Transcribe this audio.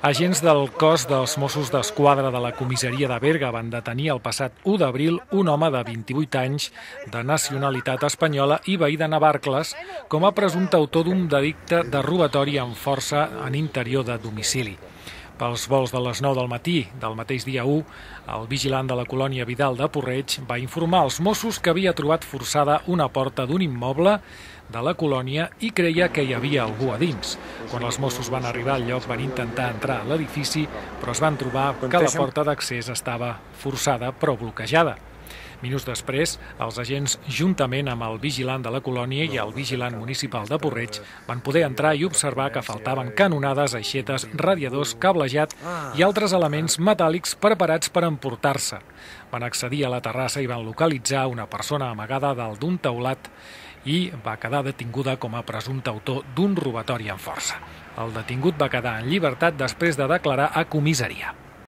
Agents del cos dels Mossos d'Esquadra de la comissaria de Berga van detenir el passat 1 d'abril un home de 28 anys de nacionalitat espanyola i veí de Navarcles com a presumpte autor d'un delicte de robatori amb força en interior de domicili. Pels vols de les 9 del matí del mateix dia 1, el vigilant de la colònia Vidal de Porreig va informar als Mossos que havia trobat forçada una porta d'un immoble de la colònia i creia que hi havia algú a dins. Quan els Mossos van arribar al lloc van intentar entrar a l'edifici, però es van trobar que la porta d'accés estava forçada però bloquejada. Minuts després, els agents, juntament amb el vigilant de la colònia i el vigilant municipal de Porreig, van poder entrar i observar que faltaven canonades, aixetes, radiadors, cablejat i altres elements metàl·lics preparats per emportar-se. Van accedir a la terrassa i van localitzar una persona amagada dalt d'un teulat i va quedar detinguda com a presumpte autor d'un robatori amb força. El detingut va quedar en llibertat després de declarar a comissaria.